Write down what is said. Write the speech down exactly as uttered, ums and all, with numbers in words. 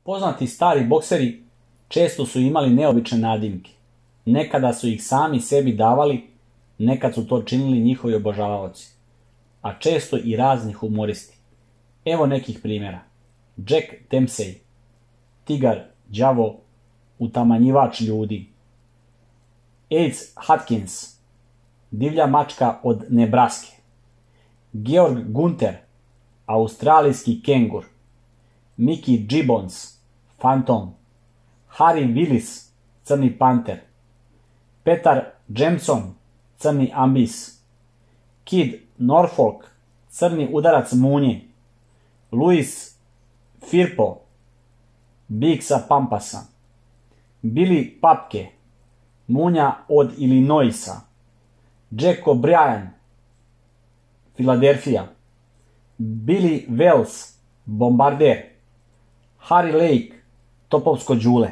Poznati stari bokseri često su imali neobične nadimke. Nekada su ih sami sebi davali, nekad su to činili njihovi obožavaoci, a često i razni humoristi. Evo nekih primjera. Jack Dempsey, tigar, đavo, utamanjivač ljudi. Ace Hutchins, divlja mačka od Nebraske. Georg Gunter, australijski kengur. Mickey Gibbons, fantom. Harry Willis, crni panter. Petar Jameson, crni ambis. Kid Norfolk, crni udarac munje. Louis Firpo, bik sa Pampasa. Billy Papke, munja od Illinoisa. Jack O'Brien, Filadelfija. Billy Wells, bombarder. Harry Lake, topovsko đule.